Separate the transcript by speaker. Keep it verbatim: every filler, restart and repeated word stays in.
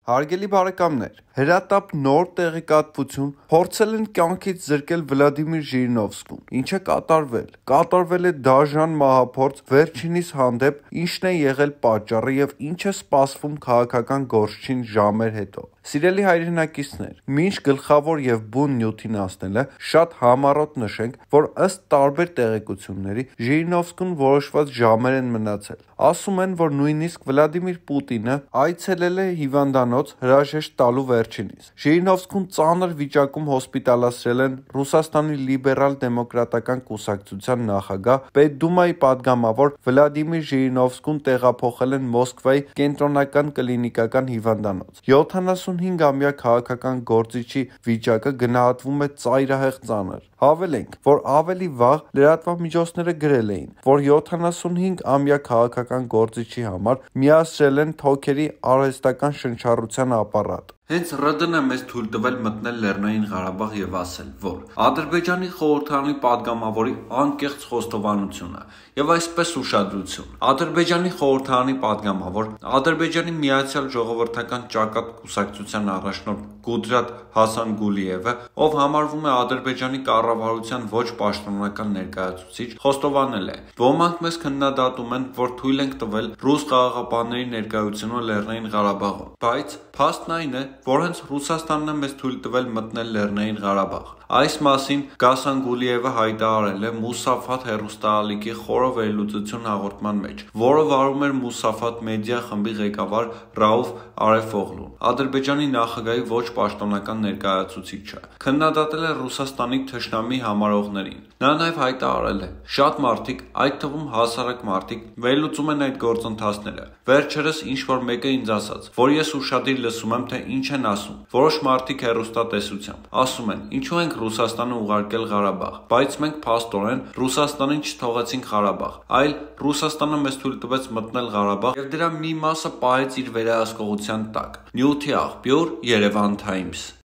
Speaker 1: Հարգելի բարեկամներ, հրատապ նոր տեղեկատվություն փորձել են կյանքից զրկել Վլադիմիր Ժիրինովսկուն, ինչը կատարվել, կատարվել է դաժան մահափորձ վերջինիս հանդեպ, ինչն է եղել պատճառը և ինչ է սպասվում քաղաքական գործչին ժամեր հետո։ Սիրելի հայրենակիցներ, մինչ գլխավոր և բուն նյութին հասնելը շատ համառոտ նշենք, որ ըստ տարբեր տեղեկությունների Ժիրինովսկուն որոշված ժամեր են մնացել։ Ասում են, որ նույնիսկ Վլադիմիր Պուտինը այցելել է հիվանդանոց հրաժեշտ տալու վերջինիս։ Ժիրինովսկուն ծանր վիճակում հոսպիտալացրել են Ռուսաստանի լիբերալ-դեմոկրատական կուսակցության նախագահ, Պետդումայի պատգամավոր Վլադիմիր Ժիրինովսկուն տեղափոխել են Մոսկվայի կենտրոնական կլինիկական հիվանդանոց։ յոթանասունհինգամյա քաղաքական գործիչի վիճակը գնահատվում է ծայրահեղ ծանր։ Հավելենք, որ ավելի վաղ լրատվամիջոցները գրել էին, որ յոթանասունհինգամյա քաղաքական գործիչի համար միացրել են թոքերի արհեստական շնչառության ապարատ։ Հենց ՌԴՆ-ը մեզ թույլ տվել մտնել Լեռնային Ղարաբաղ և ասել, որ Ադրբեջանի խորհրդարանի պատգամավորի անկեղծ խոստովանությունը և այսպես ուշադրություն։ Ադրբեջանի խորհրդարանի պատգամավոր, Ադրբեջանի Միացյալ Ժողովրդական ճակատ կուսակցության առաջնորդ Կուդրատ Հասանգուլիևը, ով համարվում է Ադրբեջանի կառավարության ոչ պաշտոնական ներկայացուցիչ, խոստովանել է. «Ոմանք մեզ քննադատում են, որ թույլ ենք տվել ռուս խաղաղապահների ներկայությունը Լեռնային Ղարաբաղում, բայց փաստն այն է, որ հենց Ռուսաստանն է մեզ թույլ տվել մտնել Լեռնային Ղարաբաղ»։ Այս մասին Գասանգուլիևը հայտարարել է Մուսաֆաթ հեռուստաալիքի խորը վերլուծություն հաղորդման մեջ, որը վարում էր Մուսաֆաթ մեդիա խմբի ղեկավար Ռաուֆ Արեֆօղլուն, Ադրբեջանի նախագահի ոչ պաշտոնական ներկայացուցիչը, քննադատել է Ռուսաստանի թշնամի համարողներին։ Նա նաև հայտարարել է. «Շատ մարդիկ, այդ թվում հասարակ մարդիկ, վերլուծում են այդ գործընթացները։ Վերջերս ինչ-որ մեկը ինձ ասաց, որ ես ուշադիր լսում եմ, թե ինչ են ասում։ Որոշ մարդիկ հեռուստատեսությամբ ասում են, ինչու ենք Ռուսաստանը ուղարկել Ղարաբաղ, բայց մենք փաստորեն Ռուսաստանին չթողեցինք Ղարաբաղ, այլ Ռուսաստանը մեզ թույլ տվեց մտնել Ղարաբաղ և դրա մի մասը պահեց իր վերահսկողության տակ»։ Նյութի աղբյուր՝ Երևան Թայմս։